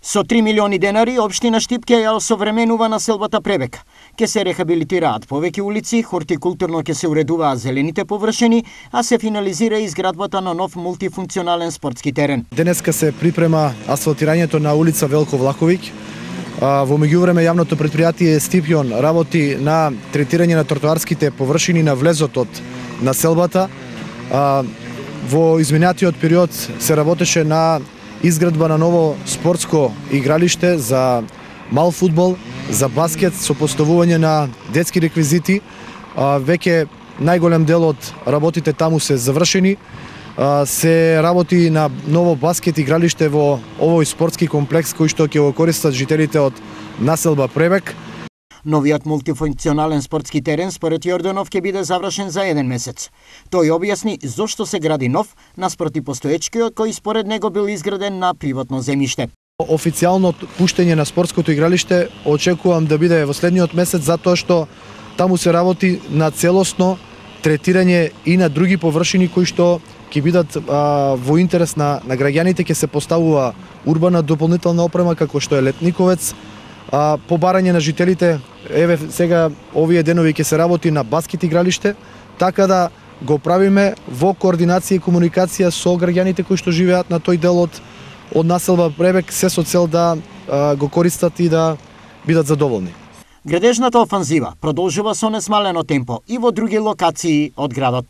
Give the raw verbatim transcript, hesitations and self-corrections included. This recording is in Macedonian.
Со три милиони денари, општина Штип ќе ја осовременува населбата Пребек. Ке се рехабилитираат повеќе улици, хортикултурно ќе се уредуваат зелените површини, а се финализира изградбата на нов мултифункционален спортски терен. Денеска се припрема асфалтирањето на улица Велко Влаховиќ. Во меѓувреме јавното претпријатие Стипјон работи на третирање на тротоарските површини на влезот од населбата. Во изминатиот период се работеше на изградба на ново спортско игралиште за мал фудбал, за баскет со поставување на детски реквизити. Веќе најголем дел од работите таму се завршени. Се работи на ново баскет игралиште во овој спортски комплекс кој што ќе го користат жителите од населба Пребек. Новиот мултифункционален спортски терен според Јорданов ќе биде завршен за еден месец. Тој објасни зошто се гради нов наспроти постоечкиот кој според него бил изграден на приватно земјиште. Официјално пуштење на спортското игралиште очекувам да биде во следниот месец, затоа што таму се работи на целосно третирање и на други површини кои што ќе бидат а, во интерес на, на граѓаните. Ќе се поставува урбана дополнителна опрема како што е летниковец, а, по барање на жителите. Еве сега овие денови ќе се работи на баскет игралиште, така да го правиме во координација и комуникација со граѓаните кои што живеат на тој дел од од населба Пребек, се со цел да а, го користат и да бидат задоволни. Градежната офанзива продолжува со несмалено темпо и во други локации од градот.